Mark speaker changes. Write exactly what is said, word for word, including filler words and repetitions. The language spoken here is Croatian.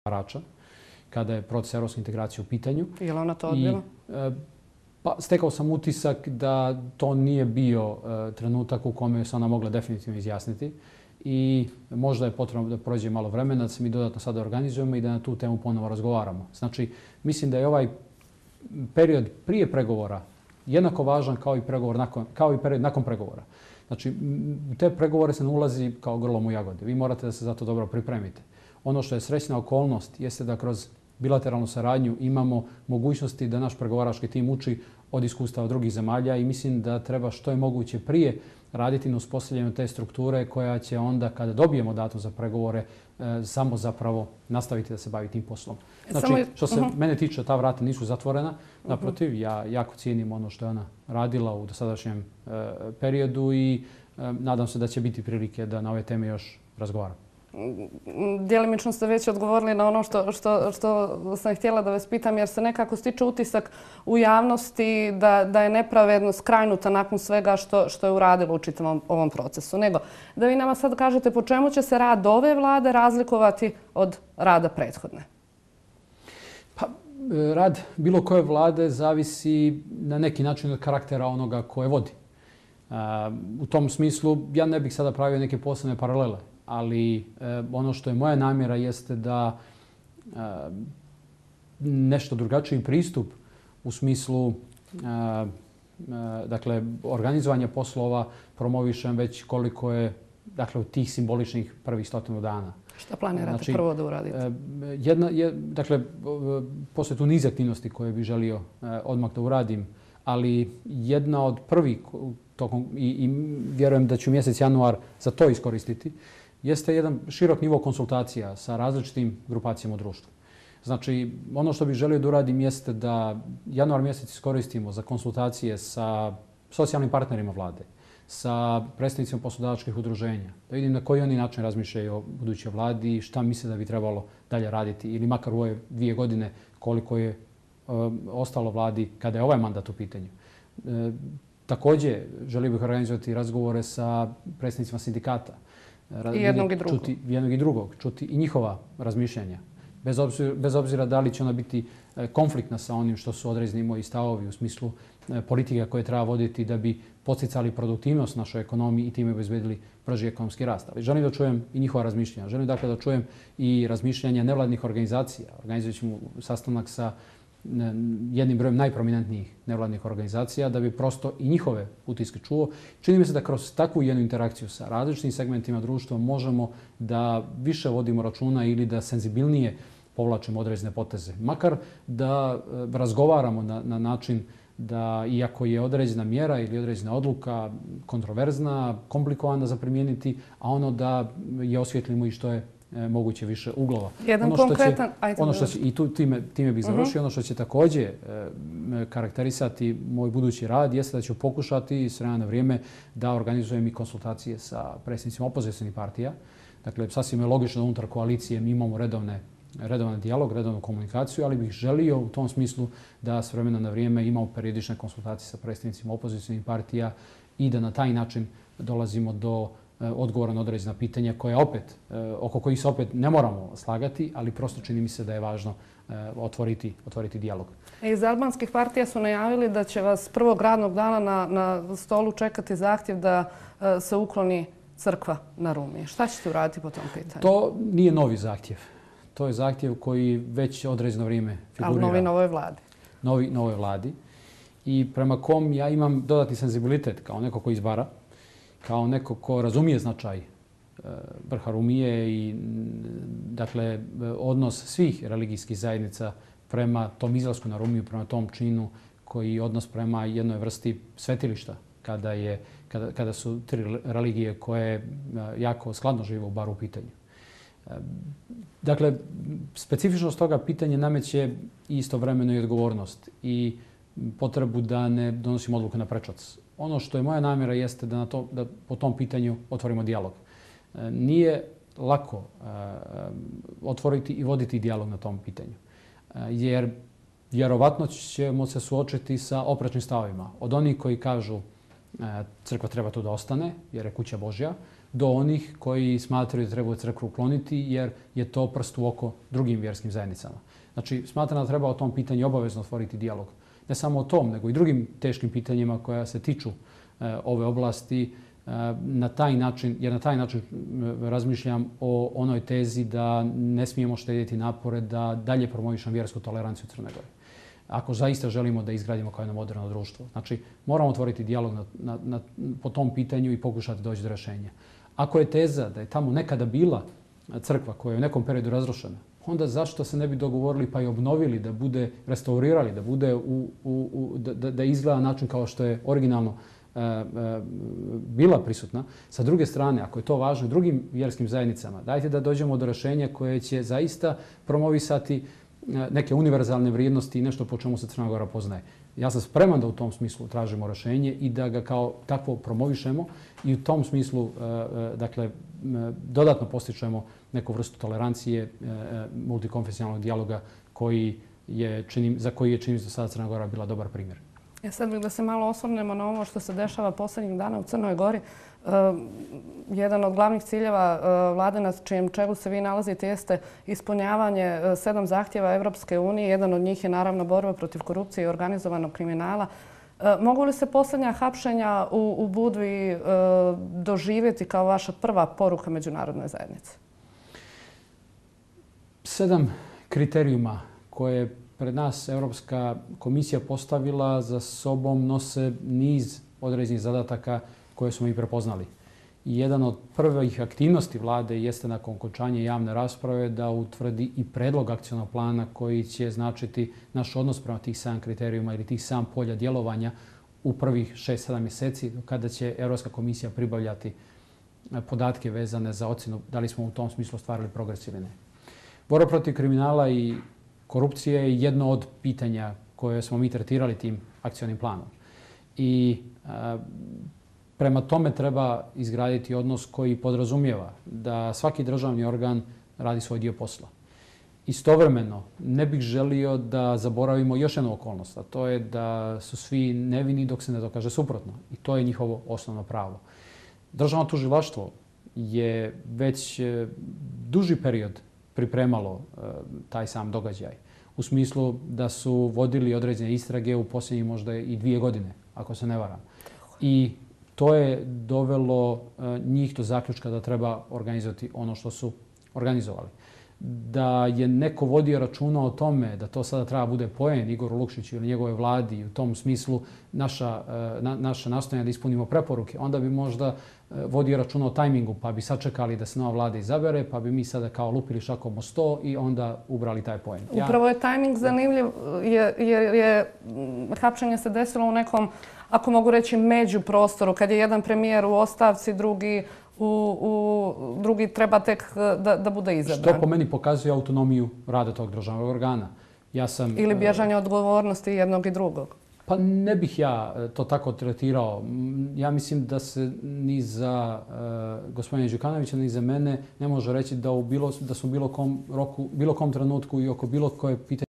Speaker 1: pregovarača kada je proces evropske integracije u pitanju.
Speaker 2: Je li ona to odbila?
Speaker 1: Pa, stekao sam utisak da to nije bio trenutak u kome se ona mogla definitivno izjasniti. I možda je potrebno da prođe malo vremena, da se mi dodatno sada organizujemo i da na tu temu ponovo razgovaramo. Znači, mislim da je ovaj period prije pregovora jednako važan kao i, pregovor nakon, kao i period nakon pregovora. Znači, u te pregovore se ne ulazi kao grlom u jagode. Vi morate da se za to dobro pripremite. Ono što je srećna okolnost jeste da kroz bilateralnu saradnju imamo mogućnosti da naš pregovarački tim uči od iskustava drugih zemalja i mislim da treba što je moguće prije raditi na uspostavljanju te strukture koja će onda, kada dobijemo datum za pregovore, e, samo zapravo nastaviti da se bavi tim poslom. Znači, što se uh-huh. mene tiče, ta vrata nisu zatvorena. Naprotiv, ja jako cijenim ono što je ona radila u dosadašnjem e, periodu i e, nadam se da će biti prilike da na ove teme još razgovaramo.
Speaker 2: Djelimično ste već odgovorili na ono što, što, što sam htjela da vas pitam, jer se nekako stiče utisak u javnosti da, da je nepravedno skrajnuta nakon svega što, što je uradilo u čitavom ovom procesu. Nego, da vi nama sad kažete po čemu će se rad ove vlade razlikovati od rada prethodne?
Speaker 1: Pa, rad bilo koje vlade zavisi na neki način od karaktera onoga koje vodi. U tom smislu ja ne bih sada pravio neke posebne paralele. Ali e, ono što je moja namjera jeste da e, nešto drugačiji pristup u smislu e, e, dakle, organizovanja poslova promovišem već koliko je dakle, od tih simboličnih prvih stotinu dana.
Speaker 2: Šta planirate znači, prvo da uradite? E,
Speaker 1: jedna, je, dakle, postoje tu niz aktivnosti koje bih želio e, odmah da uradim, ali jedna od prvih tokom, i, i vjerujem da ću mjesec januar za to iskoristiti, jeste jedan širok nivo konsultacija sa različitim grupacijama u društvu. Znači, ono što bih želio da uradim jeste da januar mjesec iskoristimo za konsultacije sa socijalnim partnerima vlade, sa predstavnicima poslodavačkih udruženja, da vidim na koji oni način razmišljaju o budućoj vladi i šta misle da bi trebalo dalje raditi ili makar u ove dvije godine koliko je e, ostalo vladi kada je ovaj mandat u pitanju. E, također, želio bih organizovati razgovore sa predstavnicima sindikata.
Speaker 2: I jednog i drugog.
Speaker 1: Čuti jednog i drugog, čuti i njihova razmišljanja. Bez obzira, bez obzira da li će ona biti konfliktna sa onim što su određeni moji stavovi u smislu politika koje treba voditi da bi podsticali produktivnost našoj ekonomiji i time obezbedili brži ekonomski rast. Ali želim da čujem i njihova razmišljanja. Želim dakle da čujem i razmišljanja nevladnih organizacija. Organizovat ćemo sastanak sa jednim brojem najprominentnijih nevladnih organizacija da bi prosto i njihove utiske čuo. Čini mi se da kroz takvu jednu interakciju sa različitim segmentima društva možemo da više vodimo računa ili da senzibilnije povlačimo određene poteze. Makar da razgovaramo na, na način da iako je određena mjera ili određena odluka kontroverzna, komplikovana za primijeniti, a ono da je osvjetlimo i što je moguće više uglova.
Speaker 2: Jedan
Speaker 1: ono što
Speaker 2: konkretan...
Speaker 1: Će, ono što će, I tu time, time bih završio. Uh-huh. Ono što će također e, karakterisati moj budući rad jeste da ću pokušati s vremena na vrijeme da organizujem i konsultacije sa predsjednicima opozicionih partija. Dakle, sasvim je logično da unutar koalicije mi imamo redovne redovan dijalog, redovnu komunikaciju, ali bih želio u tom smislu da s vremena na vrijeme imamo periodične konsultacije sa predsjednicima opozicionih partija i da na taj način dolazimo do odgovora na određena pitanja koja opet, oko kojih se opet ne moramo slagati, ali prosto čini mi se da je važno otvoriti, otvoriti dijalog.
Speaker 2: Iz albanskih partija su najavili da će vas prvog radnog dana na, na stolu čekati zahtjev da se ukloni crkva na Rumi. Šta ćete uraditi po tom pitanju?
Speaker 1: To nije novi zahtjev. To je zahtjev koji već određeno vrijeme figurira.
Speaker 2: Ali novi novoj vladi.
Speaker 1: Novi novoj vladi. I prema kom ja imam dodatni senzibilitet kao neko ko izbara, kao neko ko razumije značaj vrha Rumije i dakle odnos svih religijskih zajednica prema tom izlasku na Rumiju, prema tom činu koji je odnos prema jednoj vrsti svetilišta kada, je, kada, kada su tri religije koje jako skladno žive u baru u pitanju. Dakle, specifičnost toga pitanja nameće istovremeno i odgovornost i potrebu da ne donosimo odluke na prečac. Ono što je moja namjera jeste da, na to, da po tom pitanju otvorimo dijalog. Nije lako uh, otvoriti i voditi dijalog na tom pitanju. Uh, jer vjerovatno ćemo se suočiti sa oprečnim stavovima. Od onih koji kažu uh, crkva treba tu da ostane jer je kuća Božja, do onih koji smatraju da treba crkvu ukloniti jer je to prst u oko drugim vjerskim zajednicama. Znači, smatram da treba o tom pitanju obavezno otvoriti dijalog. Ne samo o tom, nego i drugim teškim pitanjima koja se tiču e, ove oblasti, e, na taj način, jer na taj način razmišljam o onoj tezi da ne smijemo štedjeti napore da dalje promovišemo vjersku toleranciju u Crnoj Gori. Ako zaista želimo da izgradimo kao jedno moderno društvo. Znači, moramo otvoriti dijalog na, na, na, po tom pitanju i pokušati doći do rješenja. Ako je teza da je tamo nekada bila crkva koja je u nekom periodu razrušena, onda zašto se ne bi dogovorili pa i obnovili, da bude restaurirali, da bude u, u, u, da, da izgleda način kao što je originalno e, e, bila prisutna. Sa druge strane, ako je to važno drugim vjerskim zajednicama, dajte da dođemo do rješenja koje će zaista promovisati neke univerzalne vrijednosti i nešto po čemu se Crna Gora poznaje. Ja sam spreman da u tom smislu tražimo rješenje i da ga kao takvo promovišemo i u tom smislu dakle, dodatno postičemo neku vrstu tolerancije, multikonfesionalnog dijaloga koji je, činim, za koji je čini do sada Crna Gora bila dobar primjer.
Speaker 2: Ja sad bih da se malo osvrnemo na ovo što se dešava posljednjih dana u Crnoj Gori. Uh, jedan od glavnih ciljeva uh, vlade na čijem čelu se vi nalazite jeste ispunjavanje uh, sedam zahtjeva Evropske unije. Jedan od njih je naravno borba protiv korupcije i organizovanog kriminala. Uh, mogu li se posljednja hapšenja u, u Budvi uh, doživjeti kao vaša prva poruka međunarodnoj zajednici?
Speaker 1: Sedam kriterijuma koje pred nas Europska komisija postavila za sobom nose niz određenih zadataka koje smo i prepoznali. I jedan od prvih aktivnosti vlade jeste nakon okončanja javne rasprave da utvrdi i predlog akcionog plana koji će značiti naš odnos prema tih sedam kriterijuma ili tih sedam polja djelovanja u prvih šest sedam mjeseci kada će Europska komisija pribavljati podatke vezane za ocjenu da li smo u tom smislu ostvarili progres ili ne. Borba protiv kriminala i korupcije je jedno od pitanja koje smo mi tretirali tim akcionim planom. I a, prema tome treba izgraditi odnos koji podrazumijeva da svaki državni organ radi svoj dio posla. Istovremeno ne bih želio da zaboravimo još jednu okolnost, a to je da su svi nevini dok se ne dokaže suprotno. I to je njihovo osnovno pravo. Državno tužilaštvo je već duži period pripremalo taj sam događaj. U smislu da su vodili određene istrage u posljednjih možda i dvije godine, ako se ne varam. I to je dovelo njih do zaključka da treba organizovati ono što su organizovali. Da je neko vodio računa o tome da to sada treba bude poen Igoru Lukšiću ili njegove vladi i u tom smislu naša, na, naša nastojanja da ispunimo preporuke, onda bi možda vodio računa o tajmingu pa bi sačekali da se nova vlada izabere, pa bi mi sada kao lupili šakom o sto i onda ubrali taj poen. Ja...
Speaker 2: Upravo je tajming zanimljiv jer je, je, je hapšenje se desilo u nekom, ako mogu reći, među prostoru, kad je jedan premijer u ostavci, drugi U, u, drugi treba tek da, da bude izabran.
Speaker 1: Što po meni pokazuje autonomiju rada tog državnog organa. Ja sam,
Speaker 2: ili bježanje odgovornosti jednog i drugog.
Speaker 1: Pa ne bih ja to tako tretirao. Ja mislim da se ni za uh, gospodina Đukanovića ni za mene ne može reći da, u bilo, da su u bilo kom, roku, bilo kom trenutku i oko bilo koje pitanje